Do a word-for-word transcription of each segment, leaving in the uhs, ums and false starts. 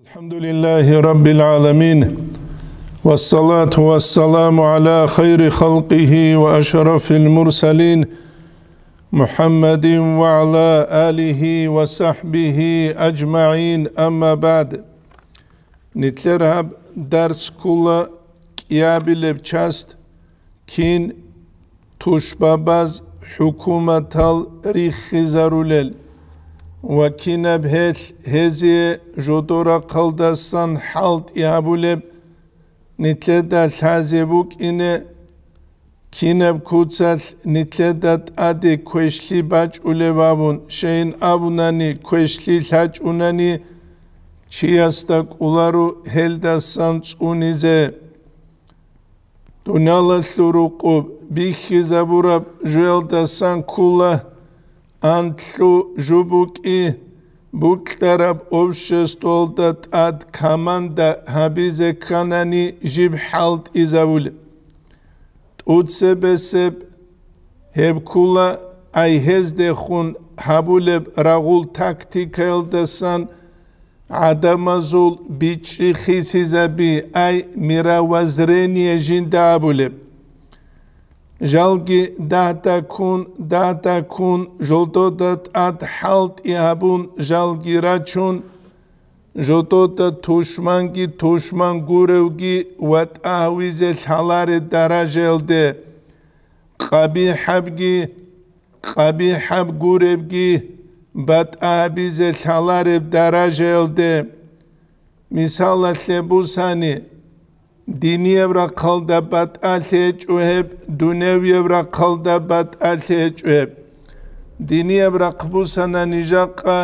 الحمد لله رب العالمين، والصلاة والسلام على خير خلقه وأشرف المرسلين، محمد وعلى آله وصحبه أجمعين، أما بعد. Нилъер гьаб дарс ккола кӀиабилеб часть, кин тушбабаз хӀукуматал риххизарулел ва кинаб гьелъ гьезие жодорахъалдасан хӀалтӀи гьабулеб, нилъеда лъазе букӀине, кинаб куцалъ нилъеда тӀаде квешлъи бачӀулеб абун, щайин абунани, квешлъи лъачӀунани, чиясда кӀоларо гьелдасан цӀунизе. Дуниялалъул рукъуб бихьизабураб жоялдасан ккола, анлъу жо букӀи, букьараб обществоялда тӀад команда гьабизе кканани жиб хӀалтӀизабулеб. ТӀуцебесеб гьеб ккола, ай гьездехун гьабулеб рагъул тактикаялдасан гӀадамазул бичӀчӀи хисизаби, ай мировоззрение жинда абулеб. Жалги дагьда ккун, дагьда ккун, жолдода тӀад хӀалтӀи гьабун, жалги рачун, жодода тушманги тушман гуревги ва тӀагьвизе лъалареб даражаялде, къабихӀабги къабихӀаб гуребги батӀа гьабизе лъалареб даражаялде. Мисалалъе бусани, динияб рахъалда батӀалъи гьечӀо гьеб, дуневияб рахъалда батӀалъи гьечӀо гьеб. Динияб рахъ бусана нижакъа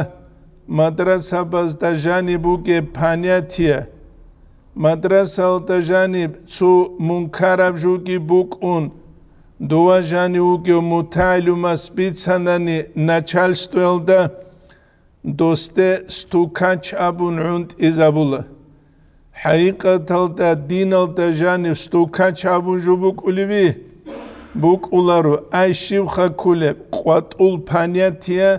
мадрасабазда жаниб бугеб понятие. Мадрасалда жаниб цо мункараб жуги букӀун, дова жанив вугев мутагӀилумас бицанани начальствоялда, досде стукач абун гӀунтӀизабула. ХӀакъикъаталда диналда жанив стукач абун жо букӀулеби? БукӀуларо, ай щибха кколеб, къватӀул понятие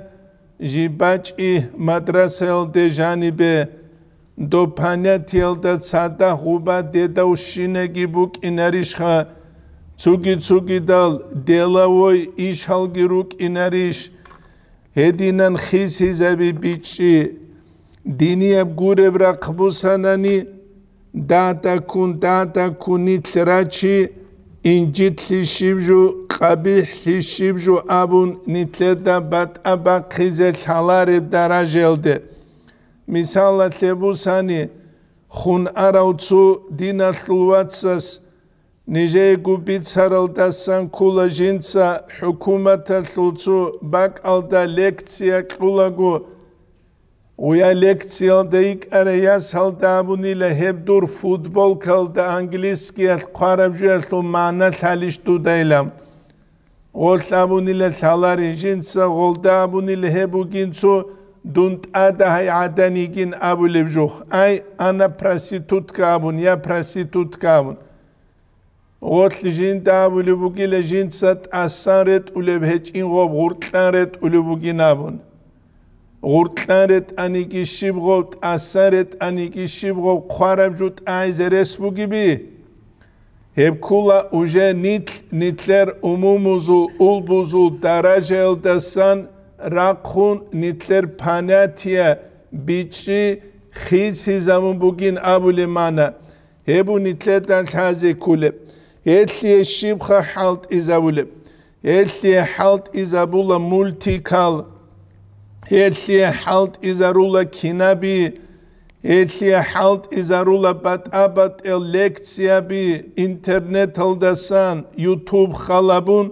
жиб бачӀи мадрасаялде жанибе. Доб понятиялда цадахъ гъуба дедавщинаги букӀинарищха, цуги-цугидал деловой ишалги рукӀинарищ? Гьединан хисизаби бичӀчӀи. Динияб гуреб рахъ бусанани, дагьда ккун, дагьда ккун нилъ рачи, инжитлъи щиб жо, къабихӀлъи щиб жо абун нилъеда батӀа бахъизе лъалареб даражаялде. Мисалалъе бусани, хун арав цо диналъул вацас нижеего бицаралдасан ккола жинца хӀукуматалъул цо бакӀалда лекция кьулаго, гъуя лекциялда йикӀарай ясалда абунила гьеб дур футболкалда английскиялъ хъвараб жоялъул магӀна лъалищ дудайилан. Гъолъ абунила лъаларин, жинца гъолда абунила гьеб бугин цо дун тӀада гьай гӀадан йигин абулеб жух. Ай, ана проститутка абун, я проститутка абун. Гъолъ жинда абулеб бугила жинца тӀасан ретӀулеб гьечӀин гъоб гъуркьан ретӀулеб бугин абун. Гъуркьан ретӀаниги щиб гъоб, тӀасан ретӀаниги щиб гъоб хъвараб жо тӀагӀизе рес бугеби? Гьеб ккола уже нилъ, нилъер умумузул, улбузул даражаялдасан рахъун нилъер понятие бичӀчӀи хисизабун бугин абулеб магӀна. Гьеб нилъеда лъазе кколеб. Гьелъие щибха хӀалтӀизабулеб? Гьелъие хӀалтӀизабула мультикал, гьелъие хӀалтӀизарула кинаби, гьелъие хӀалтӀизарула батӀа-батӀел лекцияби, интернеталдасан, ютуб халабун,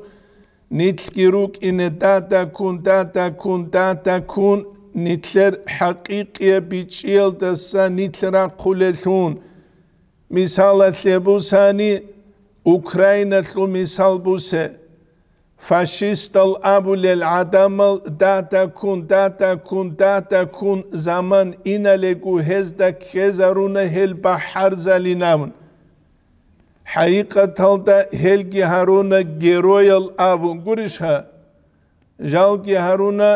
нилъги рукӀине дада ккун, дада ккун, дада ккун, нилъер хӀакъикъияб бичӀчӀиялдаса нилъ рахъулелъун. Мисалалъе бусани, Украиналъул мисал бусе. Фашистал абулел гӀадамал дагьдаккун, дагьдаккун, дагьдаккун заман иналего гьезда ккезаруна гьел бахӀарзалин абун. ХӀакъикъаталда гьелги гьаруна героял абун гурищха? Жалги гьаруна,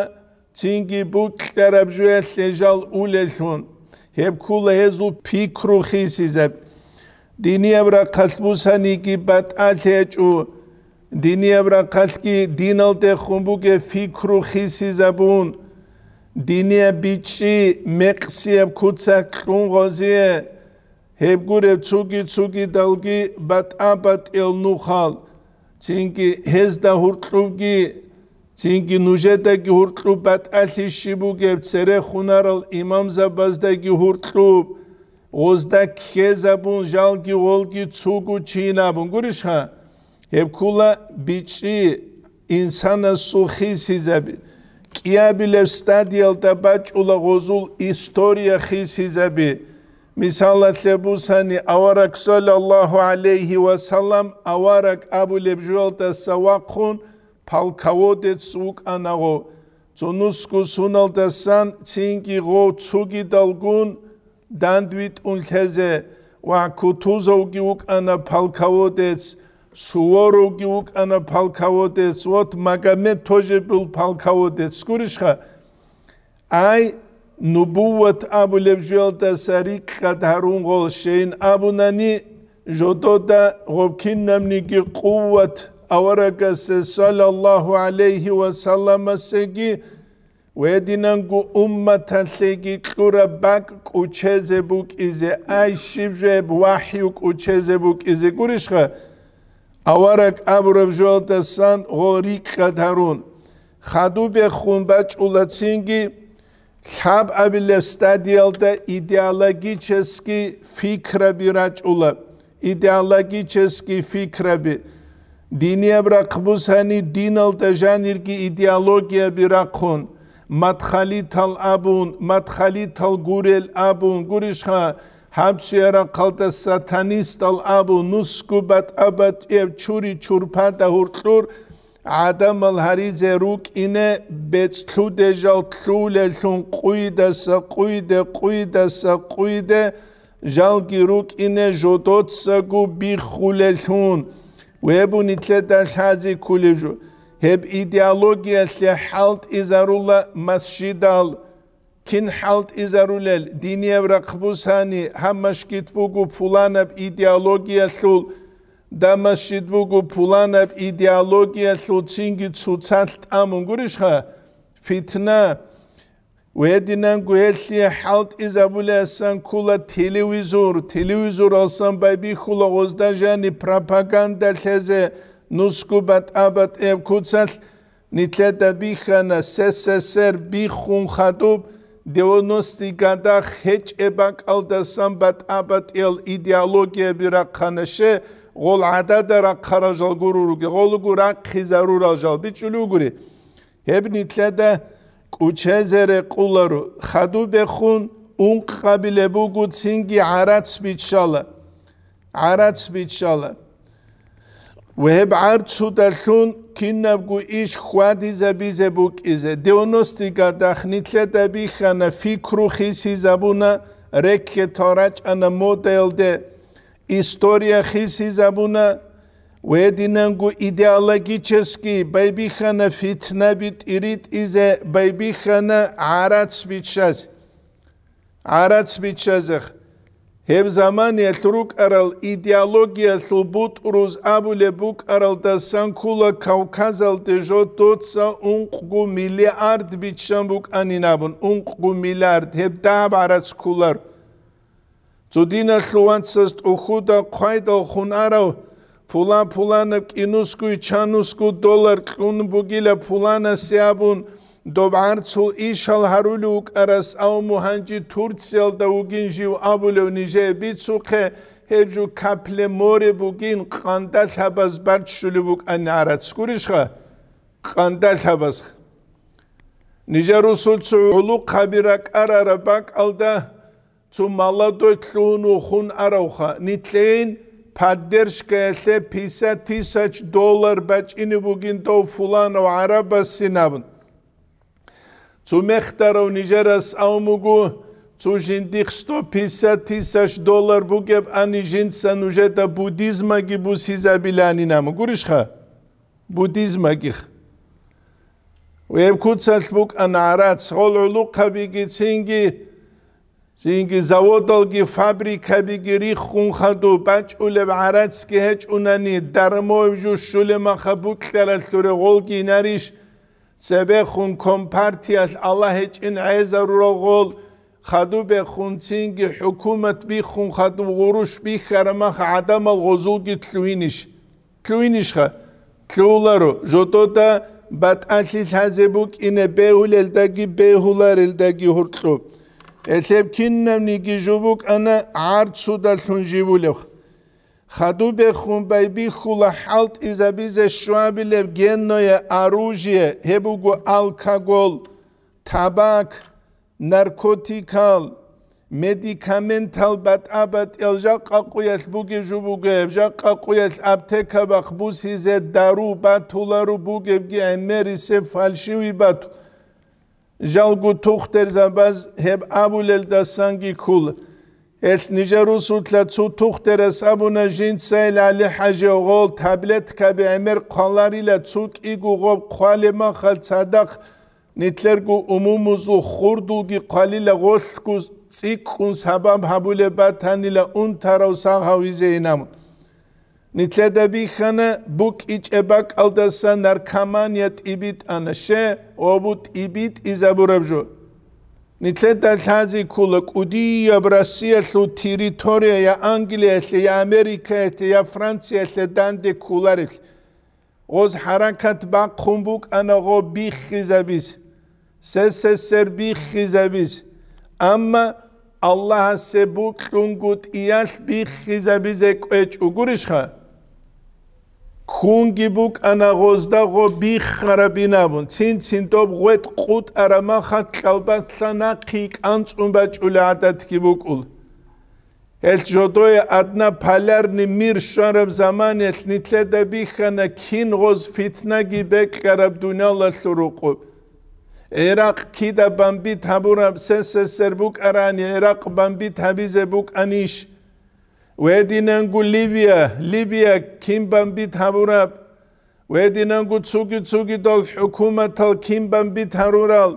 цинги букьараб жоялъе жал улеллъун. Гьеб ккула гьезул пикру хисизаб. Динияб рахъалъ бусаниги батӀалъи гьечӀо. Динияб рахъалъги диналдехун бугеб пикру хисизабун, динияб бичӀчӀи мекъсияб куцалъ кьун гъозие, гьеб гуреб цуги-цугидалги батӀа-батӀиял нухал, цинги гьезда гьуркьубги, цинги нужедаги гьуркьуб батӀалъи щиб бугеб церехунарал имамзабаздаги гьуркьуб, гъозда ккезабун, жалги гъолги цугу чина абун гурищха? Гьеб ккула бичӀчӀи инсанасул хисизаби. КӀиабилеб стадиялда бачӀула гъозул история хисизаби. Мисалалъе бусани, авараг саллаллаху гӀалайгьи ва саллам, авараг абулеб жоялдаса вахъун, полководец вукӀана гъов. Цо нусго суналдасан цинги гъов цугидалгун дандвитӀун лъезе, ва Кутузовги вукӀана полководец, Суворовги вукӀана полководец, вот Магомед тоже был полководец. Гурищха? Ай, нубувват абулеб жоялдаса рикӀкӀад гьарун гъол щейин абунани, жодода гъоб кинабниги къуват аварагасе саллаллаху гӀалайгьи ва салламасеги, гьединанго умматалъеги кьураб бакӀ кӀучезе букӀизе, ай, щиб жеб вахӀю кӀучезе букӀизе гурищха? Авараг абураб жоялдасан гъол рикӀкӀад гьарун, хадубехун бачӀула цинги, лъабабилеб стадиялда идеологический фикраби рачӀула, идеологический фикраби. Динияб рахъ бусани диналда жанирги идеологияби рахъун, мадхалитал абун, мадхалитал гурел абун гурищха, гьаб цуя рахъалда сатанистал абун, нусгу батӀа-батӀияб чури-чурпада гьуркьур гӀадамал гьаризе рукӀине бецӀлъудей жал лъулеллъун къуйдаса къуйде, къуйдаса къуйде, жалги рукӀине жодоцаго биххулеллъун, вебу нилъеда лъази ккулеб жо. Гьеб идеологиялъе хӀалтӀизарула масжидал. Кин хӀалтӀизарулел, динияб рахъ бусани, гьаб масжид буго пуланаб идеологиялъул, даб масжид буго пуланаб идеологиялъул цинги цоцалъ тӀамун гурищха? Фитна. Гьединанго гьелъие хӀалтӀизабулеасан ккула телевизор, телевизоралсан байбихьула гъозда жани пропаганда лъезе нусгу батӀа-батӀияб куцалъ. Нилъеда бихьана СССР биххун хадуб, девяностый годах гьечӀеб бакӀалдасан батӀа-батӀиял идеологияби рахъана, ще гъол гӀадада рахъарал жал гуруруге, гъолго рахъизарурал жал бичӀчӀулев гури. Гьеб нилъеда кӀучезе рекъуларо, хадубехун ункъабилеб буго цинги гӀарац биччала. ГӀарац биччала. Ва гьеб гӀарцудалъун кинабго иш хьвадизабизе букӀизе. Девяностый годах нилъеда бихьана, фикру хисизабуна, рекетал рачӀана модаялде, история хисизабуна, ва гьединанго идеологический байбихьана, фитнаби тӀиритӀизе байбихьана гӀарац биччазе. ГӀарац биччазех. Гьеб заманиялъ рукӀарал идеологиялъул бутӀруз абулеб букӀаралдасан ккула Кавказалде жодоца ункъго миллиард биччан букӀанин абун, ункъго миллиард, гьеб дагьаб гӀарац кколар. Цо диналъул вацаз тӀухьуда хъвайдал хун арав, пулан-пуланаб кӀинусгуй чанусгу доллар кьун бугила пуланасе абун, доб гӀарцул ишал гьарулев вукӀарас, ав мугьанжи Турциялда вугин жив абулев нижее бицухъе, гьеб жо капле море бугин, къандалъабаз баччулев вукӀан гӀарац гурищха? Къандалъабаз. Нижер русулцо гӀулухъаби ракӀарараб бакӀалда, цо молодой лъугьун вухун аравха, нилъейин поддержкаялъе пятьдесят тысяч доллар бачӀине бугин дов фуланав гӀарабасин абун. Цо мехтарав нижерас авмугу, цо жиндихъ сто пятьдесят тысяч доллар бугеб ани жинца нужеда буддизмаги бусизабиланин абун. Гурищха? Буддизмагих. Гьеб куцалъ букӀана гӀарац, гъол гӀулухъабиги цинги Цинги заводалги фабрикабиги риххун хадуб бачӀулеб гӀарацги гьечӀунани, дармояб жо щулеб маха букьаралъуре гъолги инарищ? Цебехун компартиялъ Аллагь гьечӀин гӀезарурал гъол, хадубехун цинги хӀукумат биххун хадуб гъурущ бихьараб маха гӀадамал гъозулги лъугьинищ? Лъугьинищха? Лъугьуларо, жодода батӀалъи лъазе букӀине бегьулелдаги бегьуларелдаги гьоркьоб. Гьелъеб кинабниги жо букӀана гӀарцудалъун живулев. Хадубехун байбихьула хӀалтӀизабизе щвабилеб генное оружие, гьеб буго алкогол, табак, наркотикал, медикаментал батӀа-батӀиял жакъа къуялъ бугеб жо бугеб, жакъа къуялъ аптека бахъ бусизе дару батулару бугебги гӀемерисеб фальшивый бату. Жалго тухтурзабаз гьеб абулелдасанги ккола. Гьелъ нижер русулъа цо тухтурас абуна, жинцайил ГӀали-хӀажи гъол таблеткаби гӀемер хъваларила, цо кӀиго гъоб хъвалеб махал цадахъ Нилъерго умумузул хурдулги хъвалила, гъолъго цӀикӀкӀун сабаб гьабулеб батанила унтарав сагъ гьавизе инабун. Нилъеда бихьана, букӀичӀеб бакӀалдаса наркомания тӀибитӀана, ще, гъобу тӀибитӀизабураб жо. Нилъеда лъази ккола кӀудияб Россиялъул территория я Англиялъе, я Америкаялъе, я Франциялъе данде кколарелъ. Гъоз хӀаракат бахъун букӀана гъо биххизабиз, СССР биххизабиз. Амма Аллагьасе бокьунгутӀиялъ биххизабизе кӀвечӀо гурищха? Ккунги букӀана гъозда гъо биххарабин абун, цин-цин доб гъветӀ къутӀараб махалъ кьалбаслъа нахъи кӀанцӀун бачӀулеб гӀадатги букӀула. Гьелъ жодое однополярный мир щвараб заманаялъ нилъеда бихьана кин гъоз фитнаги бекьараб дуниялалъул рукъуб. ГӀиракъ кида бомбит гьабураб, СССР букӀарани ГӀиракъ бомбит гьабизе букӀанищ? Гьединанго Ливия, Либия кин бомбит гьабураб? Гьединанго цуги-цугидал хӀукуматал кин бомбит гьарурал?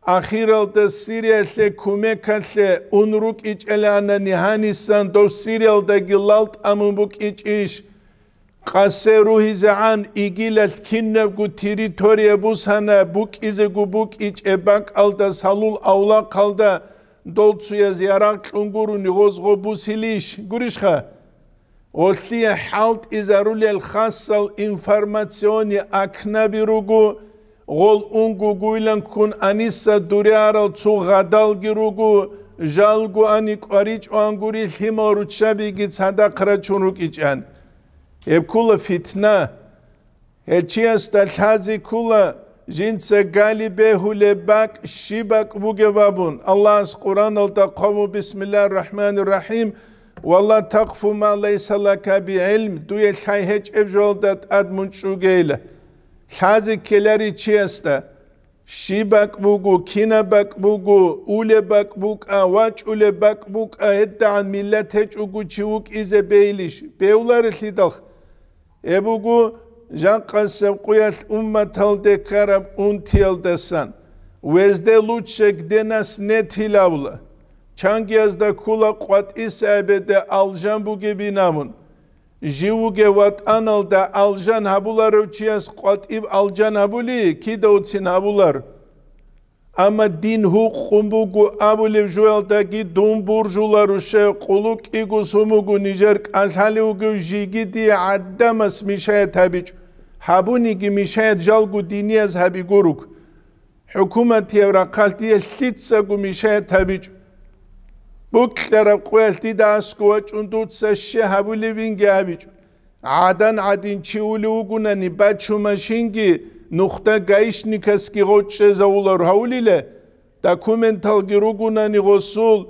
Ахиралда Сириялъе кумекалъе ун рукӀичӀеланани гьанисан дов Сириялдаги лал тӀамун букӀичӀищ? Къасе ругьизегӀан игилалъ кинабго территория бусана букӀизего букӀичӀеб бакӀалда салул авлахъалда дол цуяз ярагъ кьун гурони гъоз гъо бусилищ? Гурищха? Гъолъие хӀалтӀизарулел хасал информационный акнаби руго, гъол унго гуйлан ккун аниса дуриарал цо гъадалги руго, жалго ани кӀваричӀоан гури лъимал руччабиги цадахъ рачун рукӀичӀан. Гьеб ккула фитна. Гьел чиясда лъази ккула, жинца гали бегьулеб бакӀ щиб бакӀ бугеб абун. Аллагьас Къуръаналда хъван: «Бисмиллагьир рахӀманир рахӀим, ва ла такъфу ма лайса лака бигӀилм», дуе лъай гьечӀеб жоялда тӀад мун чӀугейила. Лъази ккелари чиясда. Щиб бакӀ буго, кинаб бакӀ буго, улеб бакӀ букӀа, вачӀулеб бакӀ букӀа, гьедагӀан миллат гьечӀого чи вукӀизе бейилищ? Бевларелъидал. Гьеб буго жакъасеб къуялъ умматалде ккараб унтиялдасан, везде лучше, где нас нет, илавла. Чангиязда ккула къватӀиса эбеде алжан бугебин абун. Жив вугев ватӀаналда алжан гьабуларев чияс къватӀиб алжан гьабули, кидавцин гьабулар. Амма дин гьукъун буго абулев жуялдаги дун буржуларушев, къулу кӀиго сумугу нижер кӀалъалев вугев жиги дие гӀадамас мешаят гьабичӀо, гьабуниги мешаят жалго динияз гьабигуруг. ХӀукуматияб рахъалъ дие лъицаго мешаят гьабичӀо. Букьараб къоялъ дида аскӀов вачӀун дуца щай гьабулебинги гьабичӀо. ГӀадан гӀадин чи улев вугунани, бачу машинги, нухда гаишникасги гъо чӀезавулар гьавулила, документалги ругунани гъосул,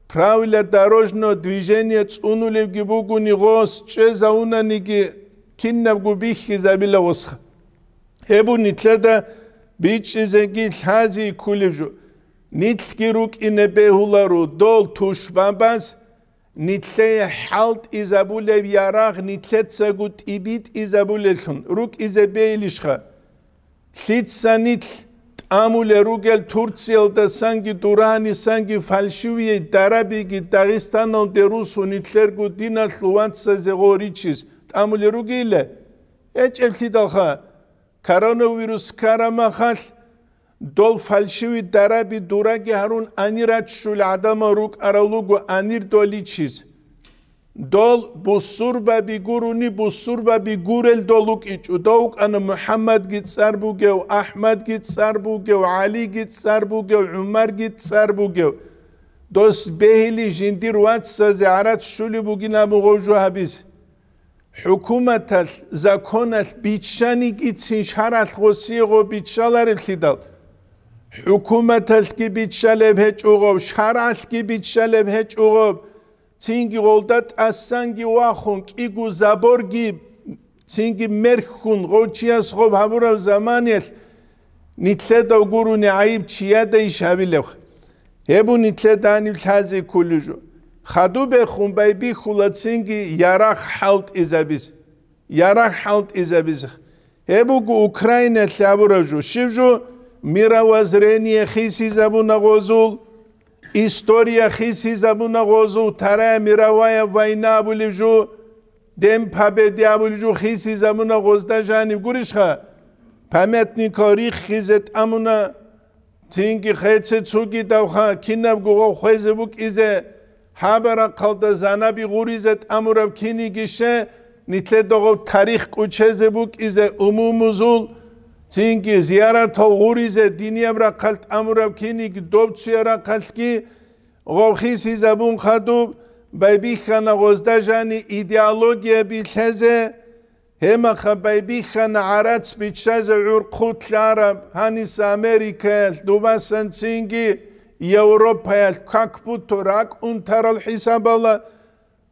правила дорожного движения цӀунулевги бугуни гъос чӀезавунаниги, кинабго бихьизабила гъосха. Гьеб нилъеда бичӀчӀизеги лъази ккулеб жо. Нилъги рукӀине бегьуларо дол тушбабаз, нилъее хӀалтӀизабулеб ярагъ нилъецаго тӀибитӀизабулелъун рукӀизе бейилищха? Лъица нилъ Амулел ругел Турциялдасанги Дуранисанги фальшивияй дарабиги Дагъистаналде русун нилъерго диналъул вацазе гъоричис тӀамулел ругейилан? ГьечӀеблъидалха, коронавирус ккарамахалъ, дол фальшивый дараби дураги гьарун анир раччулел гӀадамал рукӀарал руго анир доличис. Дол бусурбаби гурони, бусурбаби гурел дол вукӀичӀо. Дов вукӀана МухӀаммадги цӀар бугев, АхӀмадги цӀар бугев, ГӀалиги цӀар бугев, ГӀумарги цӀар бугев. Дос бегьили жиндир вацазе гӀарац щулеб бугин абун гъов жо гьабизе. ХӀукуматалъ, законалъ биччанигицин шаргӀалъ гъосие гъо биччалареблъидал, хӀукуматалъги биччалеб гьечӀо гъов, шаргӀалъги биччалеб гьечӀо гъов, цинги гъолда тӀасанги вахун, кӀиго заборги, цинги мерхьун, гъов чияс гъоб гьабураб заманиялъ нилъеда гурони гӀайиб чияда иш гьабилеб? Гьеб нилъеда гьаниб лъазе кколеб жо. Хадубехун байбихьула цинги ярагъ хӀалтӀизабизе. Ярагъ хӀалтӀизабизе. Гьеб буго Украиналъ абураб жо. Щиб жо? Мировоззрение хисизабуна гъозул, история хисизабуна гъозул, Вторая мировая война абулеб жо, День Победы абулеб жо хисизабуна гъозда жаниб гурищха? Памятникал риххизе тӀамуна, цинги хъеце цогидавха, кинабго гъов хвезе букӀизе, гьаб рахъалда занаби гъуризе тӀамураб кинигище, нилъеда гъов тарих кӀучезе букӀизе умумузул, цинги зияратал гъуризе динияб рахъалъ тӀамураб киниги доб цуя рахъалъги гъов хисизабун хадуб, байбихьана гъозда жани идеологияби лъезе, гьемаха байбихьана гӀарац биччазе гӀур хъулъараб, гьанис Америкаялъ, дубасан цинги Европаялъ как будто ракӀ унтарал хӀисабала,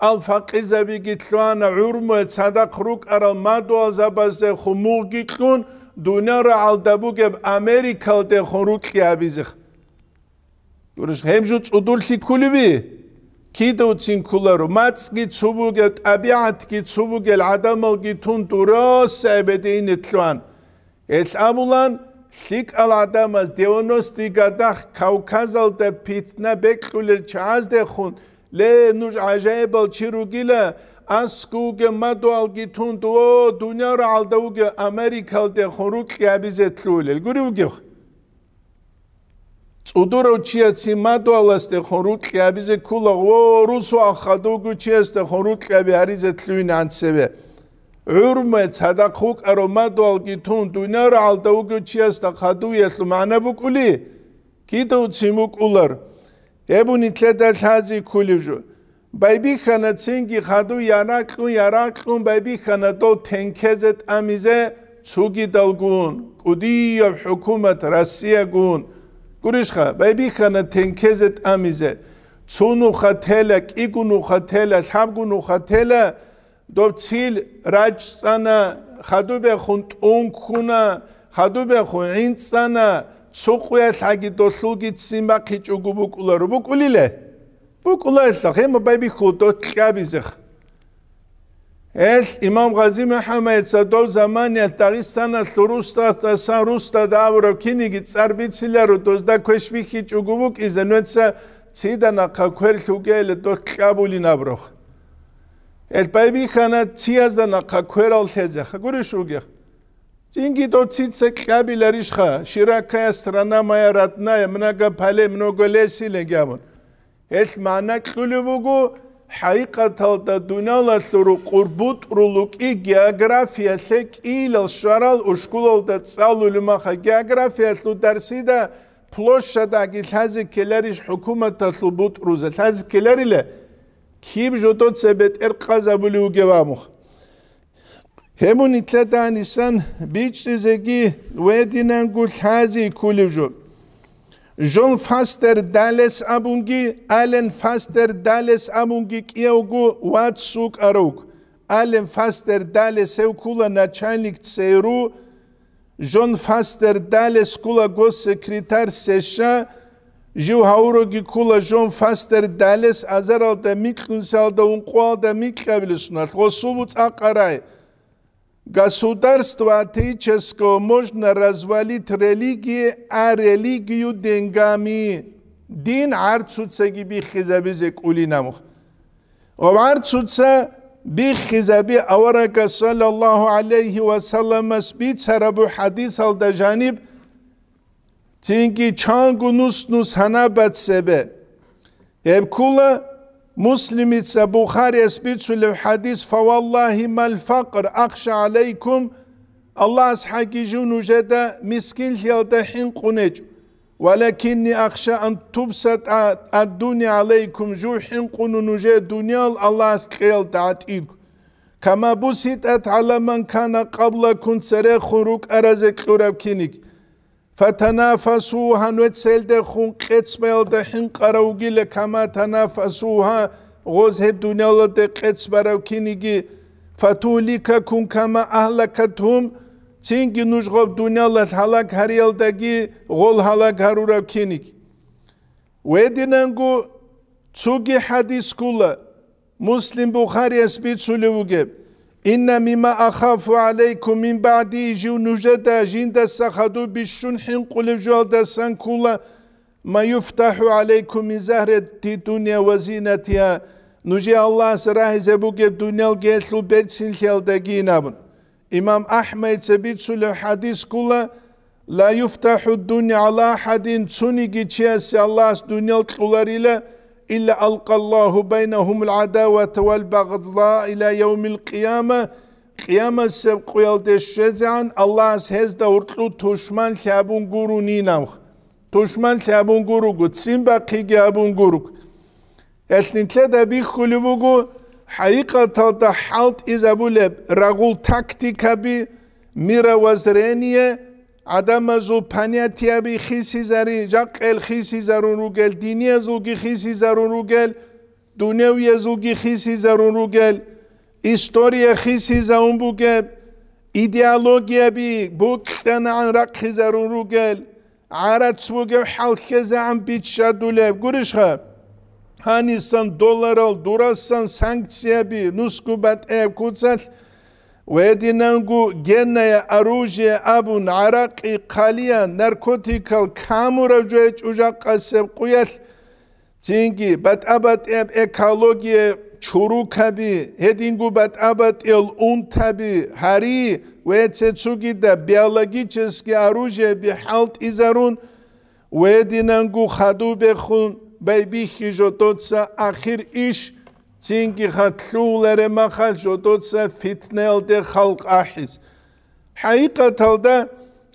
ал-факъирзабиги лъугьана гӀурмуе цадахъ рукӀарал мадугьалзабаздехун мугъги кьун, дуниял рагӀалда бугеб Америкалдехун рукьи гьабизе. Гьеб жо цӀудурлъи кколеби? Кидавцин кколаро, мацӀги цо бугел, тӀабигӀатги цо бугел гӀадамалги тун дураса эбедиине лъугьан. Гьелъ абулан, лъикӀал гӀадамаз девяностый годах Кавказалда питна бекьулел чагӀаздехун, ле, нуж гӀажаибал чи ругила, аскӀове мадугьалги тун, о, дуниял рагӀалда вугев Америкалдехун рукьи гьабизе лъугьулел гури вугев? ЦӀудурав чияцин мадугьаласдехун рукьи гьабизе ккола, ва русу ахадув вугев чиясдехун рукьи гьаби гьаризе лъугьинегӀан цеве. ГӀурмуе цадахъ вукӀарав мадугьалги тун, дуниял рагӀалда вугев чиясда хадуялъул магӀна букӀули, кидавцин букӀулар. Гьеб нилъеда лъазе кколеб жо. Байбихьана цинги хадув яракьун, яракьун байбихьана дол тенкезе тӀамизе цогидалгун, кӀудияб хӀукумат Россиягун. Гурищха, байбихьана тенкезе тӀамизе. Цо нуха тела, кӀиго нуха тела, лъабго нуха тела, доб цил рачӀцӀана, хадубехун тӀун ккуна, хадубехун гӀинцӀана, цо къуялъ гьаги долъулги ццин бахъичӀого букӀуларо. БукӀулиле? БукӀулайилъа, гьема байбихьула дот кьабизех. Гьел имам Гъази МухӀаммадица дов заманиялъ Дагъистаналъул рустатасан рустада абураб киниги цӀар бициларо, дозда квеш бихьичӀого букӀизе, нуца цидана хъа квер лъугейиле дот кьабулин абураб. Гьел байбихьана циязда нахъа кверал лъезеха гурищ ругех. Цинги дов цица кьабиларищха, широкая страна моя родная, много полей, много лесилей гьабун. Гьелъ магӀна кьулеб буго, хӀакъикъаталда дуниялалъул рукъур бутӀрул рукӀи географиялъе кӀиилал щварал ушкулалда цӀалулеб маха географиялъул дарсида площадьги лъазе ккеларищ хӀукуматалъул бутӀрузе? Лъазе ккеларила? Киб жодоца бетӀер къазабулев вугев абун. Гьеб нилъеда гьанисан бичӀчӀизеги гьединанго лъазе кколеб жо. Жон Фастер Далес абунги, Ален Фастер Далес абунги кӀиявго вац вукӀаравго. Ален Фастер Далес гьев ккула начальник ЦРУ, Жон Фастер Далес ккула госсекретарь США, жив гьавуроги ккула Жон Фастер Далес азаралда микьнусиялда ункъоялда микьабилесуналъ гъосул буцӀа къарай. Государство атеического можно развалить религии, а религию деньгами. Дин гӀарцуцаги биххизабизе кӀулин абун. Ва гӀарцуца биххизаби аварагас саллаллагьу гӀалайгьи ва салламас бицарабу хӀадисалда жаниб, цинги чанго нус-нус гьанаб бацебе. Гьеб ккула Муслимица Бухарияс бицулев хӀадис: «Фаваллагьи мал факър ахша гӀалайкум», Аллагьас хӀаги жив нужеда мискинлъиялда хӀинкъунечӀо, «валакинни ахша ан тубсатӀа ад-дуния гӀалайкум», жив хӀинкъуну нужее дуниял Аллагьас кьеялда гӀатӀиго, «кама буситӀат гӀала ман кана къаблакум», церехун рукӀаразе кьураб киниг. «Фатанафасугьа», нугьецелдехун къецбаялда хӀинкъарав вугила, «кама танафасугьа», гъоз гьеб дуниялалде къецбарав киниги, «фатугьликакум кама агьлакатгьум», цинги нуж гъоб дуниялалъ гьалаг гьариялдаги гъол гьалаг гьарурав киниги. Гьединанго цоги хӀадис ккула, Муслим, Бухарияс бицулев вугеб: «Инна мимма ахафу гӀалайкум мин баъди», жив нужеда жиндаса хадуб бищун хӀинкъулев жоялдасан ккула, «ма юфтахӀу гӀалайкум мин загьрати дунья ва зинатиха», нужее Аллагьас рагьизе бугеб дуниял гелъул берцинлъиялдагийин абун. Имам АхӀмайца бицулев хӀадис ккула: «Ла юфтахӀу дунья гӀала ахӀадин», цониги чиясе Аллагьас дуниял кьоларила, «илла алкъаллагьу байнагьумул гӀадавата вал багъза ила явмил къияма», къиямасеб къуялде щвезегӀан Аллагьас гьезда гьоркьу тушманлъи абун гурунинавха. Тушманлъи абун гуруго, ццин бахъиги абун гуруго. Гьелъ нилъеда бихьулеб буго хӀакъикъаталда хӀалтӀизабулеб рагъул тактикаби, мировоззрение, гӀадамазул понятияби хисизари, жакъел хисизарун ругел, диниязулги хисизарун ругел, дуневиязулги хисизарун ругел, история хисизавун бугеб, идеологияби букьанагӀан рахъизарун ругел, гӀарац бугеб хӀал лъезегӀан биччадулеб гурищха? Гьанисан долларал дурасан санкцияби нусго батӀияб куцалъ ва гьединанго генное оружие абун гӀаракъи, хъалиян, наркотикал камурав жо гьечӀо жакъасеб къуялъ, цинги батӀа-батӀияб экология, чурукаби, гьединго батӀа-батӀиял унтаби, гьари ва цецугида биологический оружиеби хӀалтӀизарун, ва гьединанго хадубехун байбихьи жодоца ахир иш, цинги хатлъуларе махал жодоца фитнаялде халкъ ахӀиз. ХӀакъикъаталда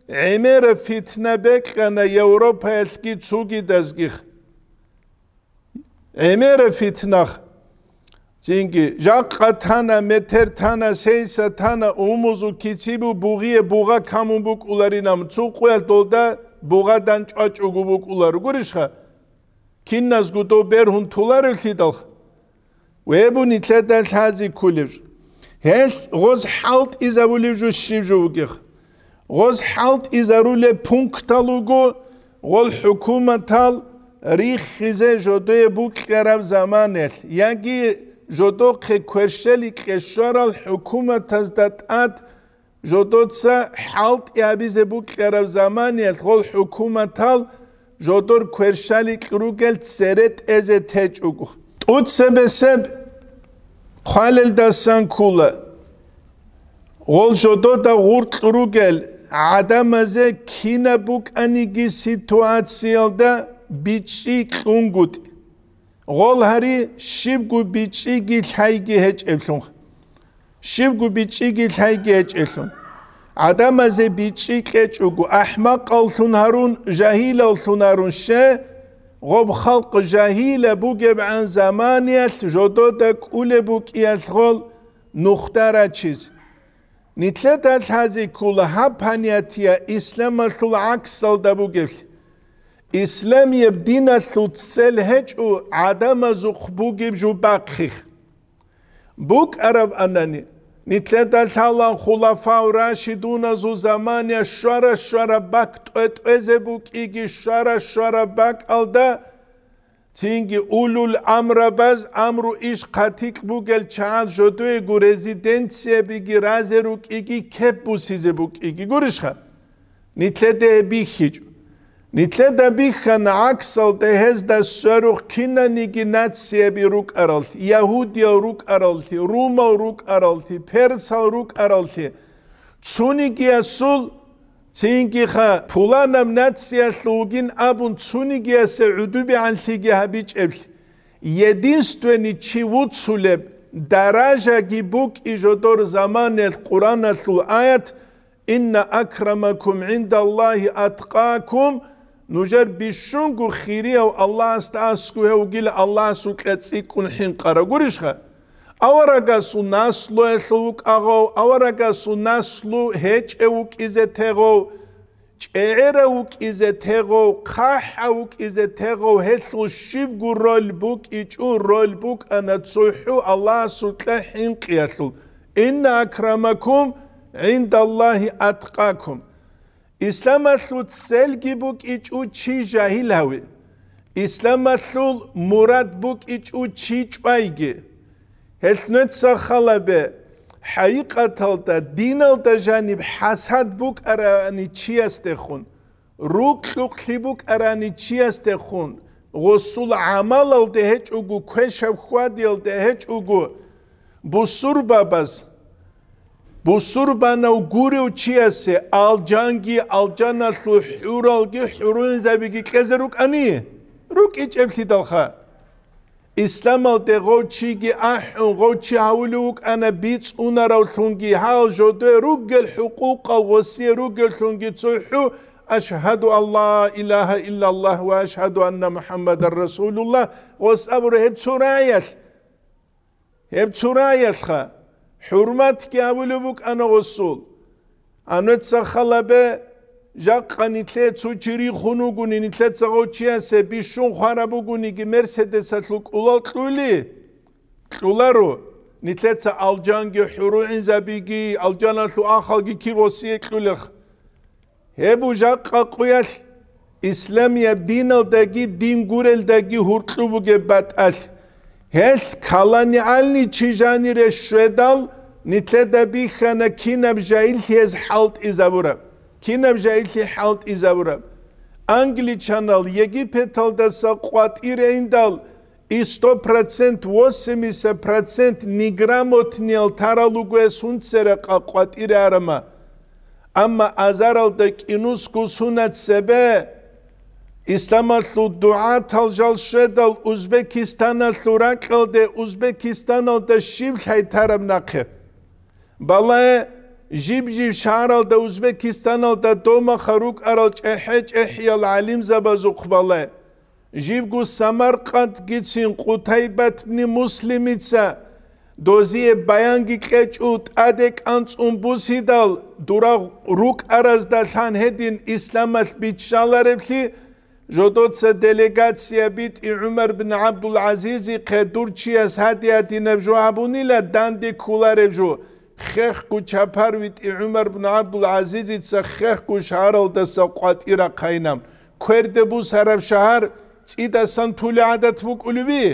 гӀемера фитна бекьана Европаялъги цугидазгих. ГӀемера фитнах. Цинги, жакъа тана, метер тана, сейса тана, умузул кицибу бугъие бугъа камун букӀуларинам, цун къуялъ долда бугъадан чӀвачӀого букӀуларо. Гурищха? Киназго дов бергьун туларевлъидалха? Вебу нилъеда лъази ккулев. Гьелъ гъоз хӀалтӀизабулев жо щиб жо вугех? Гъоз хӀалтӀизарулеб пунктал руго, гъол хӀукуматал риххизе жодое букьараб заманаялъ, яги жодохъе кверщели кьешарал хӀукуматазда тӀад жодоца хӀалтӀи гьабизе букьараб заманаялъ гъол хӀукуматал жодор кверщаликь ругел цере тӀезе течӀого. ТӀуцебесеб хъвалелдасан ккула. Гъол жодода гъуркь ругел гӀадамазе кинаб букӀаниги ситуациялда бичӀчӀи кьунгутӀи. Гъол гьари щибго бичӀчӀиги лъайги гьечӀеблъун. Щибго бичӀчӀиги лъайги гьечӀеблъун. ГӀадамазе бичӀчӀи кьечӀого, ахӀмакъаллъун гьарун, жагьилаллъун гьарун ще, гъоб халкъ жагьила бугебгӀан заманиялъ жодода кӀулеб букӀиялъ гъол нухда рачиз. Нилъеда лъази ккула гьаб понятие исламалъул гӀаксалда бугеблъи. Исламияб диналъул цел гьечӀо гӀадамазухъ бугеб жо бахъих. БукӀараб анани, нилъеда лъалан хулафау рашидуназул замания щвара-щвара бак тӀве-тӀвезе букӀиги, щвара-щвара бакӀалда Цинги улул амрабаз, амру иш хъатикь бугел чагӀаз жодоего резиденциябиги разе рукӀиги кеп бусизе букӀиги. Гурищха? Нилъеда гьеб бихьичӀо. Нилъеда бихьана гӀаксалда гьезда сверухъ кинаниги нацияби рукӀараллъи, ягьудиял рукӀараллъи, румал рукӀараллъи, персал рукӀараллъи, цунигиясул, цингиха пуланаб нациялъул вугин абун цунигиясе гӀудубигӀанлъиги гьабичӀеблъи, единственный чи вуцулеб даражаги букӀи жодор заманелъ Къураналъул аят: «Инна акрамакум гӀиндаллагьи аткъакум», нужер бищунго хирияв Аллагьасда аскӀов гьев вугила Аллагьасукьа цӀикӀкӀун хӀинкъарав. Гурищха? Аварагасул наслуялъул вукӀагъав, аварагасул наслу гьечӀев вукӀизе тегъав, чӀегӀерав вукӀизе тегъав, хъахӀав вукӀизе тегъав, гьелъул щибго роль букӀичӀо, роль букӀана цохӀо Аллагьасукьа хӀинкъиялъул: «Инна акрамакум гӀиндаллагьи аткъакум». Исламалъул целги букӀичӀо чи жагьил гьави. Исламалъул мурад букӀичӀо чи чӀвайги. Гьелъ нуца халабе, хӀакъикъаталда диналда жаниб хӀасад букӀарани чиясдехун, рукьукълъи букӀарани чиясдехун, гъосул гӀамалалде гьечӀого, квешаб хьвадиялде гьечӀого, бусурбабаз, бусурбанав гурев чиясе алжанги, алжаналъул хӀуралги, хӀурулинзабиги кьезе рукӀани? РукӀичӀеблъидалха. Исламалде гъов чиги ахӀун, гъов чи гьавулев вукӀана бицунаревлъунги, гьал жодое ругел хӀукъукъал гъосие ругевлъунги цохӀо: «Ашгьаду ан ла илагьа иллаллагь ва ашгьаду анна МухӀаммадан расулуллагь», гъос абура гьеб цо раялъ. Гьеб цо раялъха, хӀурматги гьавулеб букӀана гъосул. Гьануца халабе, жакъа нилъее цо чи рихун вугони, нилъеца гъов чиясе бищун хвараб бугониги, Мерседесалъул кӀулал кьули? Кьуларо. Нилъеца алжанги, хӀурулгӀинзабиги, алжаналъул ахалги кигъосие кьулех. Гьеб жакъа къуялъ исламияб диналдаги дин гурелдаги гьуркьу бугеб батӀалъ. Гьелъ каланигӀални чи жанире щведал, нилъеда бихьана кинаб жагьиллъи гьез хӀалтӀизабураб, кинаб жагьиллъи хӀалтӀизабураб. Англичанал Египеталдаса къватӀире индал, и сто процент, восемьдесят процент неграмотниял тарал руго гьес гьунцерахъа къватӀире арама. Амма азаралда кӀинусго сунат цебе, исламалъул дугӀатал жал щведал Узбекистаналъул ракьалде, Узбекистаналда щиб лъайтараб нахъе? Балагье, жиб-жиб шагьаралда Узбекистаналда домаха рукӀарал чӀехӀе-чӀехӀиял гӀалимзабазухъ балагье. Жибго Самаркъандгицин Къутайбат бни Муслимица дозие баянги кьечӀо, тӀаде кӀанцӀун бусидал, дурагъ рукӀараздалъан гьедин исламалъ биччалареблъи, жодоца делегация битӀи ГӀумар бин ГӀабдул-ГӀазизихъе дур чияс гьадиятинаб жо гьабунила данде кколареб жо. Хехго чапар витӀи ГӀумар бин ГӀабдул-ГӀазизица хехго шагьаралдаса къватӀира хъайна. Кверде бусараб шагьар цӀидасан тули гӀадат букӀулеби?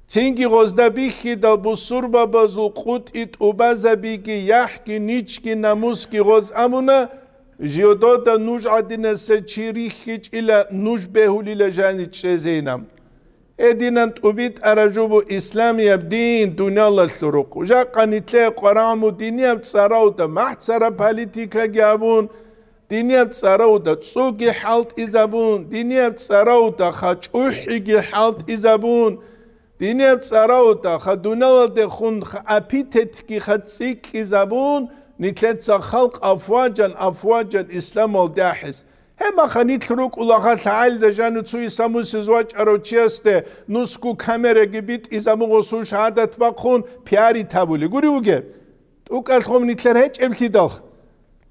Цинги гъозда бихьидал бусурбабазул къутӀи тӀубазабиги, яхӀги, ничги, намусги гъоз абуна, жодода нуж гӀадинаса чи рихьичӀила, нуж бегьулила жани чӀезейилан. Гьединан тӀубитӀараб жо буго исламияб дин дуниялалъул рукъ. Жакъа нилъее къварагӀму динияб цӀаравда, махӀцара политикаги абун, динияб цӀаравда цӀуги хӀалтӀизабун, динияб цӀаравда ха чӀухӀиги хӀалтӀизабун, динияб цӀаравда ха дуниялалдехун ха апитетги ха цӀикӀкӀизабун, нилъеца халкъ афваджан-афваджан исламалде ахӀизе. Гьеб маха нилъ рукӀула ха лъагӀалида жану цо Иса мусиз вачӀарав чиясде нусго камераги битӀизабун гъосул шагьадат бахъун пиарить гьабули гури вугеб? ТӀукӀалъ гъом нилъер гьечӀеблъидал.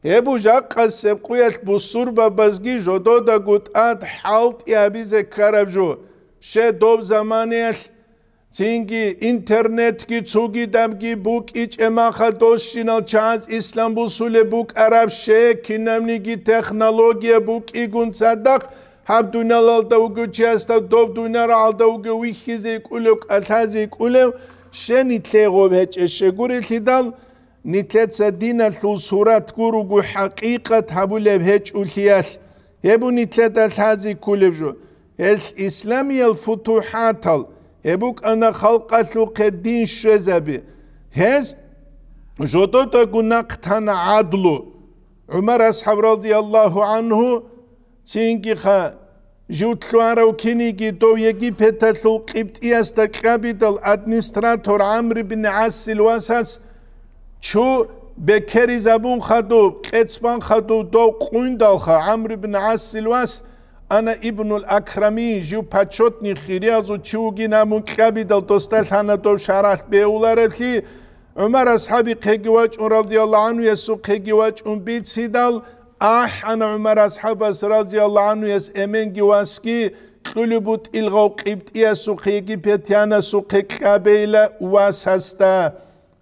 Гьеб жакъасеб къуялъ бусурбабазги жододаго тӀад хӀалтӀи гьабизе ккараб жо. Ще доб заманаялъ Цинги интернетги цогидабги букӀичӀеб маха досщинал чагӀаз ислам бусулеб букӀараб, ще кинабниги технология букӀигун цадахъ Гьаб дуниялалда вугев чиясда доб дуниярагӀалда вугев вихьизе кӀулев, кӀалъазе кӀулев, щай нилъее гъоб гьечӀеб? Щай гурелъидал, нилъеца диналъул сурат гуруго хӀакъикъат гьабулеб гьечӀолъиялъ, гьеб нилъеда лъазе кколеб жо. Гьел исламиял футухӀатал, гьеб букӀана халкъалъухъе дин щвезаби. Гьез жододаго нахъ тана гӀадлу. ГӀумар асхӀаб радияллагьу гӀанху, цинги-ха, жив лъугьарав киниги дов Египеталъул къибтӀиясда кьабидал администратор ГӀамр ибн ГӀасил васас чу бекеризабун хадуб, къецбан хадуб дов къуйндалха, ГӀамр ибн ГӀасил вас, ана ибнул Акрами, жив почётный хириязул чи вугин абун кьабидал досда лъана дов шаргӀалъ бегьулареблъи, ГӀумар асхӀабихъеги вачӀун, радияллагьу гӀанхуясухъеги вачӀун бицидал, ахӀана ГӀумар асхӀабас, радияллагьу гӀанхуяс, эменги васги кьулеб бутӀил гъав къибтӀиясухъе, египетянасухъе кьабейила васасда,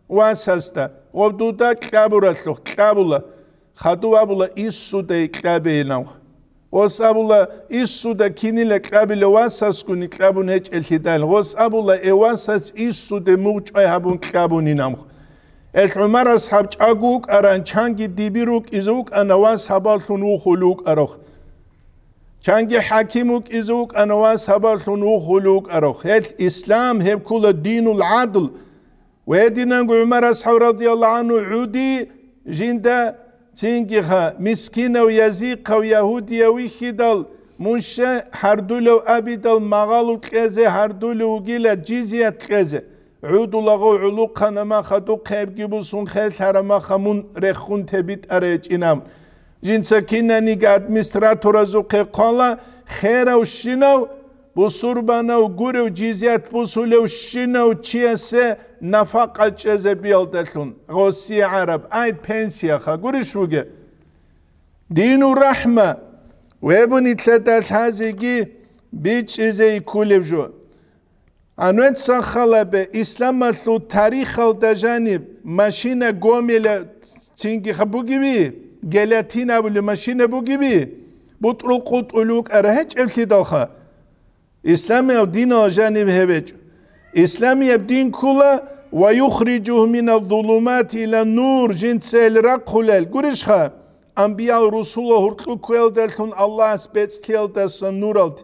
васасда, гъоб дуда кьабуралъухъ кьабула. Хадув абула, иссуда кьабейилан. Гъос абула, иссуда кинила кьабила васасгуни кьабун гьечӀелъидал. Гъос абула, э васас иссуде мугъчӀвай гьабун кьабунинамх. Эл ГӀумар асхӀаб чӀаго вукӀаран, чанги дибир вукӀизе вукӀана вас гьабаллъун вухулев вукӀарах. Чанги хӀаким вукӀизе вукӀана вас гьабаллъун вухулев вукӀарах. Гьел ислам гьеб ккула динул гӀадл. Гьединанго ГӀумар асхӀаб радияллагьу гӀанху гӀуди жинда цинги-ха, мискинав, язихъав, ягьудияв вихьидал, мун щай гьардулев абидал, магъалу кьезе гьардулев вугила, жизият кьезе. ГӀудулагъав гӀулухъана маха духъебги бусун херлъара маха мун рехун тебитӀарай гьечӀинаб. Жинца кинаниги администраторазухъе хъвала, херавщинав, бусурбанав гурев, жизият бусулевщинав чиясе нафакъа чӀезе биялдалъун, гъосие гӀараб, ай, пенсияха, гурищ бугеб? Дину рахӀма, вебуни лъеда лъазеги бичӀчӀизе йиккулеб жо. Гьанвеца халабе исламалъул тарихалда жаниб машина гомела цинги ха бугеби, гелатин абулеб машина бугеби, бутӀрул къутӀулев вукӀара гьечӀеблъидалха. Исламияб динал жаниб гьеб гьечӀо. Исламияб дин ккула: «Ва юхриджугьум миназ-зулумати илан-нур», жинца гьел рахъулел. Гурищха, анбиял-русулал гьуркьу кквелдалъун Аллагьас бецӀлъиялдаса нуралде.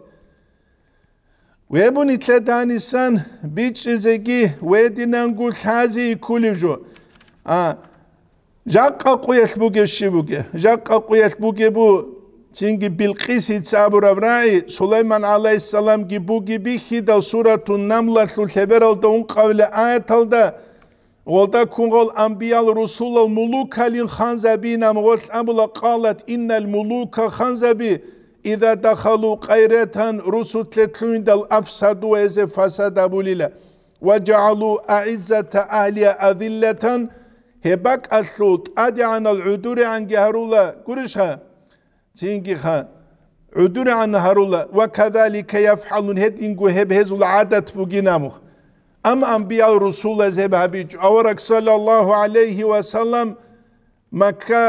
Вебуни лъеданисан бичӀчӀизеги, вединанго лъазе йиккулев жо. А, жакъа къуялъ бугев щиб бугеб? Жакъа къуялъ бугеб бу, цинги Билкъисица абураб рагӀи, Сулайман гӀалайгьиссаламги буги бихьидал, Суратун Намлалъул лъебералда ункъавила аяталда, гъолда ккун гъол анбиял-русулал мулукалин ханзабинам гъолъ абула, къалат иннал мулука, ханзаби, иза дахалу къайратан, русулъе лъугьиндал, афсаду, гьезе фасад абулила, ва жагӀалу аиззата агьлия азиллатан, гьеб бакӀалъул тӀадегӀанал гӀудурегӀанги гьарула, гурищха? Цинги ха, гӀудурегӀан гьарула, ва казалика яфгӀалун, гьединго гьеб гьезул гӀадат бугин абун. Амма анбиял-русулаз гьеб гьабичӀо. Авараг, саллаллагьу гӀалайгьи ва саллам, Макка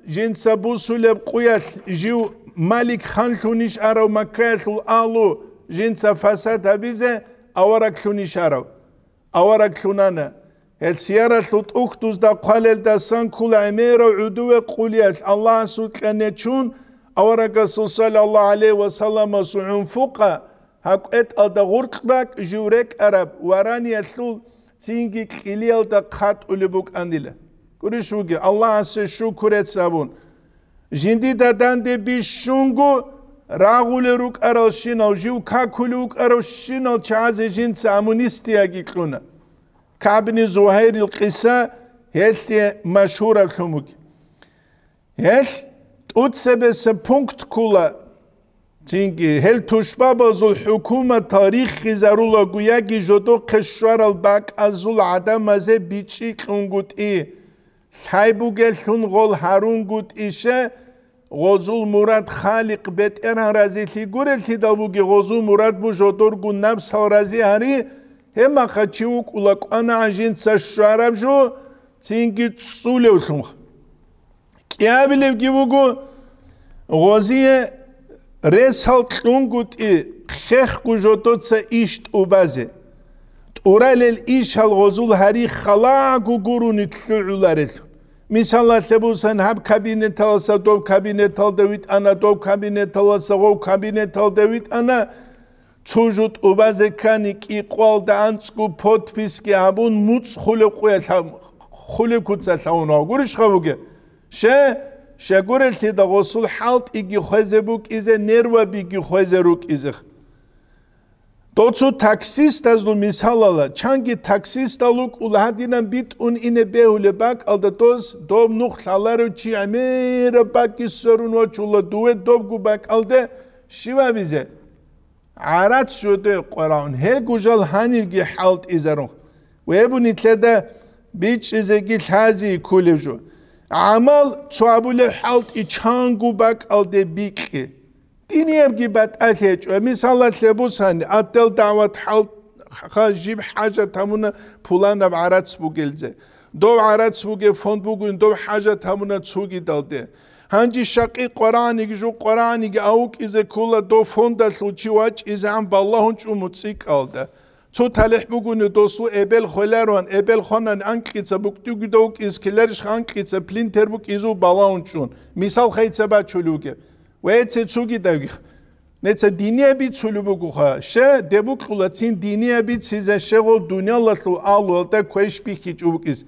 жинца бусулеб къуялъ жив малик-ханлъунищ арав, Маккаялъул агьлу жинца фасад гьабизе авараглъунищ арав? Авараглъунана. Гьел сияралъул тӀухьдузда хъвалелдасан ккола гӀемерав гӀудуве къулиялъ Аллагьасукьа нечун, аварагасул, саллаллагьу гӀалайгьи ва салламасул гӀунфукъа, гьаб кӀветӀалда гъуркь бакӀ жив рекӀараб вараниялъул цинги кьилиялда хъатӀулеб букӀанила. Гурищ вугев, Аллагьасе шукурец абун. Жиндида данде бищунго рагъулел рукӀаралщинал, жив какулев вукӀаравщинал чагӀазе жинца амнистияги кьуна. КагӀбни Зугьайрил къиса гьелъие машгьураблъун бугеб. Гьелъ тӀуцебесеб пункт ккула. Цинги, гьел тушбабазул хӀукуматал риххизарулаго яги жодохъе щварал бакӀазул гӀадамазе бичӀчӀи кьунгутӀи, лъай бугеллъун гъол гьарунгутӀише, гъозул мурад Халикъ БетӀергьан разилъи гуреллъидал буги, гъозул мурад бу жодоргун напсал рази гьари, гьебмаха чи вукӀула кӀванагӀан жинца щвараб жо, цинги цӀцӀулевлъун. КӀиабилебги буго, гъозие Ресал кьунгутӀи хехго жодоца иш тӀубазе. ТӀуралел ишал гъозул гьари халаго гурони лъугӀуларел. Мисалалъе бусан, гьаб кабинеталаса доб кабинеталда витӀана, доб кабинеталаса гъов кабинеталда витӀана, цо жо тӀубазе ккани, кӀикъвалда анцӀго подписги гьабун, муцӀ хулеб къуялъ-, хулеб куца лъавун гьав гурищха бугеб? Ще, щегурелъида гъосул хӀалтӀиги хвезе букӀизе, нервабиги хвезе рукӀизе. Доцу таксистазул мисалала, чанги таксистал вукӀула гьадинан битӀун ине бегьулеб бакӀалда доз, доб нух лъаларев чи гӀемераб бакӀги сверун вачула, дуе добгу бакӀалде щивабизе? ГӀарац жодое къварагӀун, гьелгу жал гьанилги хӀалтӀизарун. Вебу нилъеда бичӀчӀизеги лъази кколев жо. ГӀамал цо абулеб хӀалтӀи чангу бакӀалде бикьи. Диниябги батӀалъи гьечӀо. Мисалалъе бусани, отдел дагӀват хӀал-, ха-, жиб хӀажат гьабуна пуланаб гӀарац бугелзе. Дов гӀарац бугеб фонд бугин, дов хӀажат гьабуна цугидалде. Гьанже щакъи къварагӀаниги жо къварагӀаниги авукӀизе ккола дов фондалъул чи вачӀизегӀан балагьун чӀун муцӀикӀалда. Цо талихӀ бугони досул эбел хвелароан, эбел хванани анкьица букӀтӀуги довукӀиз ккеларищха анкьица плинтер букӀизул балагьун чӀун. Мисал хайца бачулев вугеб. Веце цугидавгих. Неца диния бицулеб бугоха, ще, дебукьула цин диния бицизе щегъул дуниялалъул агьлуялда квеш бихьичӀо букӀиз.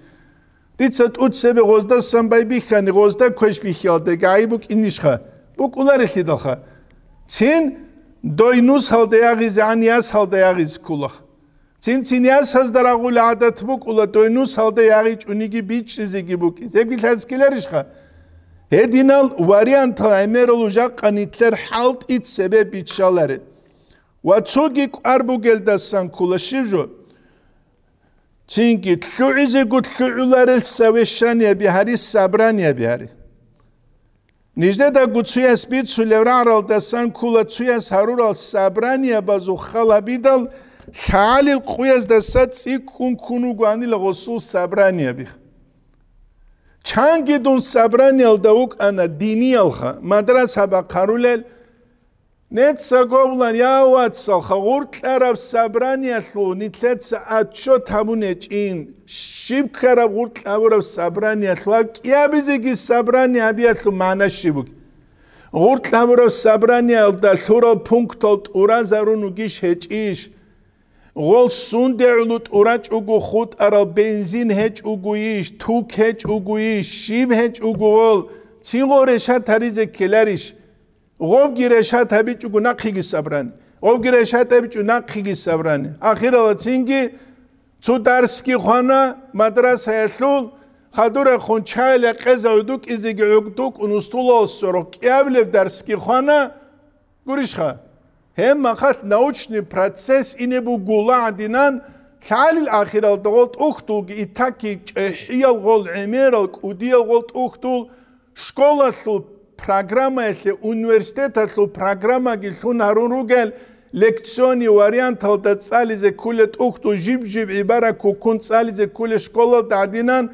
Дица тӀуцебе гъоздасан байбихьани, гъозда квеш бихьиялда гӀайиб букӀинищха? БукӀуларелъидалха. Цин дой нусалда ягъизегӀан ясалда ягъизе кколах. Цин-цин ясазда рагъула гӀадат букӀула, дой нусалда ягъичӀониги бичӀчӀизеги букӀизе. Гьебги лъазккиларищха? Гьединал вариантал гӀемералъул жакъа нилъер хӀалтӀи цебе биччаларе. Ва цоги кӀвар бугелдасан ккола щиб жо? Цинги лъугӀизего лъугӀуларел совещаниеби гьари, собраниеби гьари. Нижедаго цуяс бицулев рагӀаралдасан ккола цуяс гьарурал собраниябазул хал гьабидал, лъагӀалил къуяздаса цӀикӀкӀун ккун вугоанила гъосул собраниябих. Чанги дун собраниялда вукӀана диниялха, мадраса бахъарулел, Неца гобла, я вацалха, гъуркьараб собраниялъул нилъеца отчет гьабун гьечӀин, щиб ккараб гъуркьа гьабураб собраниялъул, гьаб кӀиабизеги собрание гьабиялъул магӀна щиб бугеб? Гъуркьа гьабураб собраниялда лъурал пунктал тӀуразарун вугищ гьечӀищ? Гъол сундегӀлу тӀурачӀого хутӀарал бензин гьечӀогойищ, тук гьечӀогойищ, щиб гьечӀого гъол, цин гъол решат гьаризе ккеларищ? Гъобги решат гьабичӀого нахъеги собрание. Гъобги решат гьабичӀо нахъеги собрание. Ахирала цинги цо дарсги хвана мадрасаялъул, хадурахун чайал якъеза гӀодукӀизеги гӀодукӀун устулал сорокъ кӀиабилеб дарсги хвана, гурищха? Гьеб махалъ научный процесс ине бугула гӀадинан, лъалил ахиралда гъол тӀухьдулги итаки чӀехӀиял гъол гӀемерал кӀудиял гъол тӀухьдул, школалъул программаялъе, университеталъул программаги лъун гьарун ругел, лекционный варианталда цӀализе кколел тӀухьдул жиб-жиб гӀибарат ккун цӀализе кколел школалда гӀадинан,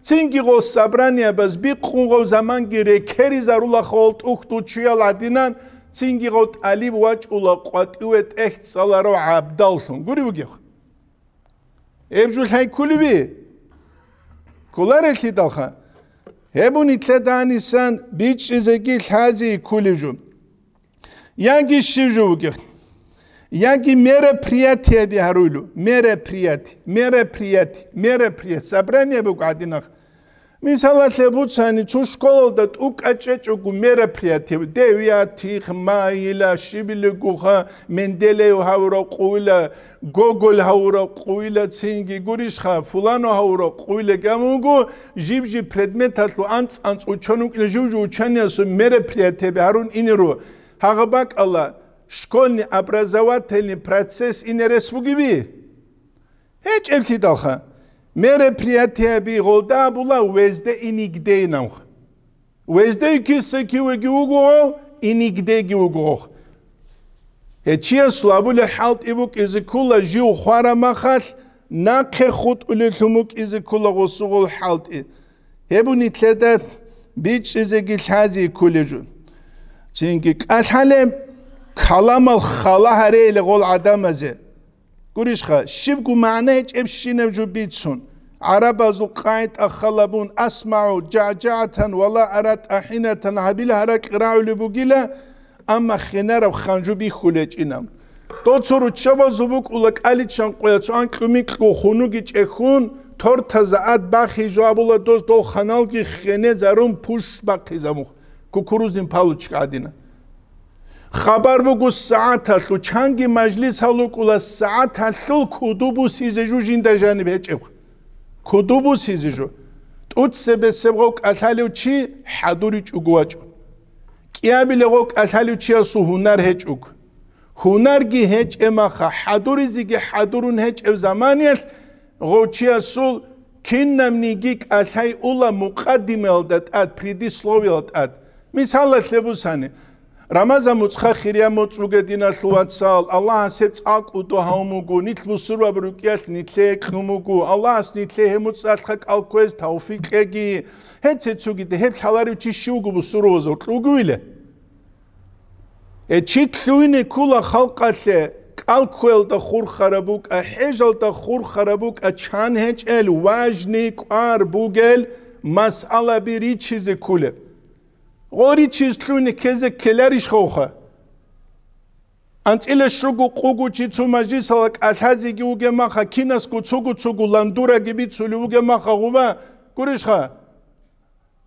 цинги гъол собраниябаз бикъун гъол заманги рекеризарулаха гъол тӀухьдул чуял гӀадинан, цинги гъол тӀалиб вачӀула къватӀиве тӀехь цӀаларав гӀабдаллъун. Гури бугех. Гьеб жо лъай кколеби? Кколарелъидалха. Гьеб нилъеда гьанисан бичӀчӀизеги лъази кколеб жо. Яги щиб жо бугеб? Яги мероприятиеби гьаруйлу. Мероприяти, мероприяти, мероприяти. Собрание буго гӀадинах. Мисалалъе буцани, цо школалда тӀукӀа чӀечӀого мероприятие, девятых майила, щибилигуха, Менделеев гьавурав къуйла, Гоголь гьавурав къуйла, цинги гурищха, фулано гьавурав къуйла гамуго, жиб-жиб предметалъул анцӀ-анцӀ учёнукӀила жив-жив учениялъул мероприятиеби гьарун инеро. Гьагъа бакӀала школьный образовательный процесс ине рес бугеби? ГьечӀеблъидалха, мероприятиеби гъолда абула везде и нигде инавха. Везде киса кивеги вугогъов, и нигдеги вугогъов. Гьечиясул абулеб хӀалтӀи букӀизе ккола жив хвара махалъ, нахъе хутӀулелъун букӀизе ккола гъосугъул хӀалтӀи. Гьеб нилъеда бичӀчӀизеги лъази кколеб жо. Цинги кӀалъалеб, Каламал хала гьарейила гъол гӀадамазе. Гурищха, щибго магӀна гьечӀебщинаб жо бицун, гӀарабазул къагӀида хал гьабун, «асмагӀу жагӀжагӀатан ва ла ара тӀахӀинатан» гьабила гьаракь рагӀулеб бугила, амма хинараб ханжу бихьулечӀинаб. Дол цо руччабазул букӀула кӀаличан къоял цо анкьу-минкьу хунуги чӀехьун, тортазда ад бахизе жо абула доз, дол ханалги хенезарун пуш бахъизабун, кукурузнин палочка гӀадина. Хабар буго сагӀаталъул, чанги мажлис гьалукӀула сагӀаталъул куду бусизе жо жинда жаниб гьечӀеб. Куду бусизе жо. ТӀуцебесеб гъов кӀалъалев чи хӀадуричӀого вачӀун. КӀиабилеб гъов кӀалъалев чиясул гьунар гьечӀого. Гьунарги гьечӀеб маха, хӀадуризеги хӀадурун гьечӀеб заманиялъ гъов чиясул кинабниги кӀалъай ула мукъаддимаялда тӀад, предисловиялда тӀад. Мисалалъе бусани, Рамазан муцӀха хирия муцӀ буге, диналъул вацал, Аллагьас гьеб цӀакъ кӀудо гьавун буго, нилъ бусурбаб рукӀиялъ нилъее кьун буго, Аллагьас нилъее гьеб муцӀалъха кӀал кквезе тавфикъ кьеги, гьеб цецуги, гьеб лъаларев чи щив вуго бусурбабазул кьугуйиле? Э, чи лъугьине ккула халкъалъе, кӀал кквеялда хурхараб букӀа, хӀежалда хурхараб букӀа, чан гьечӀел, важный, кӀвар бугел масъалаби ричизе кколеб. Гъоричиз лъугьине ккезе ккеларищ хавха? АнцӀила щуго къуго чи цо мажлисалда кӀалъазеги вугеб маха, кинасго цого-цого ландураги бицулев вугеб маха гъуба, гурищха?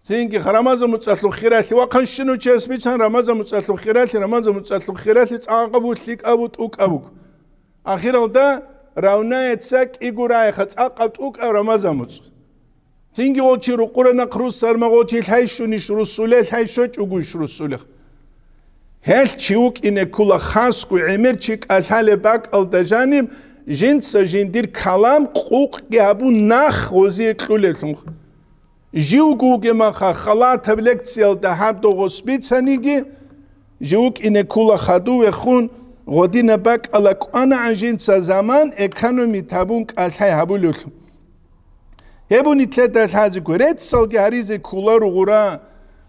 Цинги Рамазан муцӀалъул хиралъи, вахъанщинав чияс бицан Рамазан муцӀалъул хиралъи, Рамазан муцӀалъул хиралъи цӀакъабу, лъикӀабу, тӀукӀабу. Ахиралда равнается кӀиго рагӀиха цӀакъаб, тӀукӀаб Рамазан муцӀ. Цинги гъов чи рукъура нахъ руссарма, гъов чи лъай щунищ руссуле, лъай щвечӀогойищ руссулех. Гьелъ чи вукӀине ккула хасго гӀемер чи кӀалъалеб бакӀалда жаниб, жинца жиндир калам къукъги гьабун нах гъозие кьулеблъун. Живго вугемаха халатаб лекциялда гьаб догъос бицаниги, жив вукӀине ккула хадув вехун, гъодинаб бакӀала кӀванагӀан жинца заман экономить гьабун кӀалъай гьабулевлъун. Гьеб нилъеда лъазего, реццалги гьаризе кколаро гъура,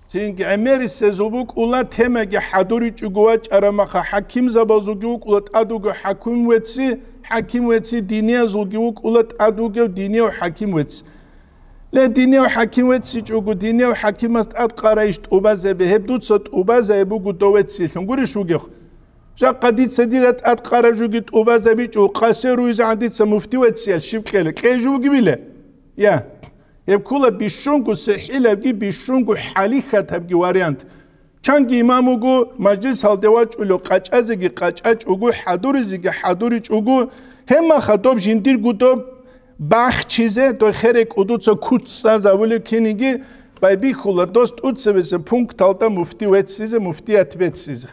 цинги гӀемерисезул букӀула темаги хӀадуричӀого вачӀараб маха, хӀакимзабазулги вукӀула тӀад вугев хӀаким вецци, хӀаким вецци диниязулги вукӀула тӀад вугев динияв хӀаким вецци. Ле, динияв хӀаким веццичӀого, динияв хӀакимас тӀад къарайищ тӀубазаби, гьеб дуца тӀубазаби буго дов веццилъун гурищ вугев? Жакъа дица дида тӀад къараб жоги тӀубазабичӀо, къасе руизегӀан дица муфти вецциял щиб кьела, кьей жо бугебила? Я. Гьеб ккула бищунго сихӀилабги, бищунго хӀалихьатабги вариант. Чанги имам вуго, мажлис гьалде вачӀулев къачӀазеги къачӀачӀого, хӀадуризеги хӀадуричӀого, гьебмаха доб жиндирго доб бахчизе, дой херекӀудуца куц цӀазавулев киниги байбихьула дос тӀуцебесеб пункталда муфти веццизе, муфтият беццизе.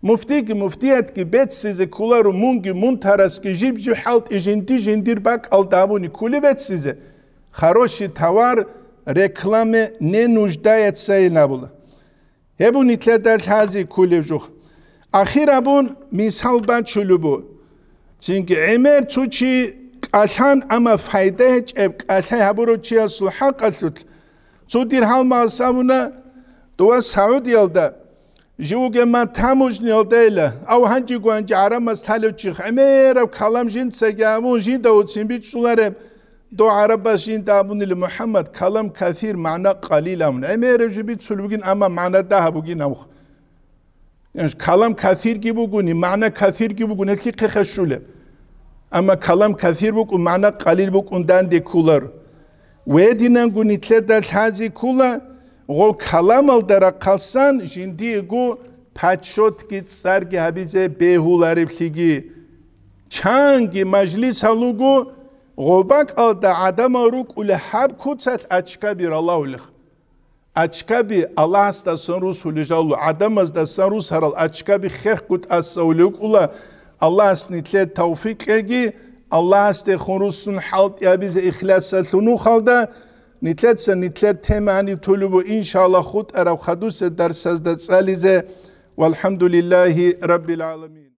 Муфтиги муфтиятги беццизе кколаро, мунги мун тарасги жиб-жиб хӀалтӀи жинди-жиндир бакӀалда абуни ккули беццизе, хороший товар, рекламе не нуждается ин абула. Гьеб нилъеда лъази ккулев жух. Ахир абун мисал бачулеб бу. Цинги гӀемер цо чи кӀалъан, амма пайда гьечӀеб кӀалъай гьабурав чиясул хӀакъалъулъ, цо дир гьалмагъас абуна, дова Саудиялда, живуге ма таможниялдайила, ав гьанжего гьанже гӀарамаз талев чи гӀемераб калам жинцаги абун, жинда уцин бичӀчӀулареб, дов гӀарабаз жинда абунила, МухӀаммад, калам касир, магӀна къалил абун. ГӀемераб жо бицулеб бугин, амма магӀна дагьаб бугин абухъ. Калам касирги бугони, магӀна касирги бугони, гьелъихъе хашулеб. Амма калам касир букӀун, магӀна къалил букӀун данде кколар. Гьединанго нилъеда лъази ккола, гъо каламалда рахъалсан жиндиего почётги цӀарги гьабизе бегьулареблъиги. Чанги мажлис гьалуго, гъо бакӀалда гӀадамал рукӀули гьаб куцалъ ачкаби ралавулех. Ачкаби Аллагьасдасан русулел жал, гӀадамаздасан русарал ачкаби хехго тӀасавулев вукӀула. Аллагьас нилъер тавфикъ кьеги, Аллагьасдехун руссун хӀалтӀи гьабизе ихласалъун нухалда, нилъеца нилъер тема гьаниб толеб, иншаллагь, хутӀараб хадусеб дарсазда цӀализе. ВалхӀамдулиллагьи раббил гӀаламин.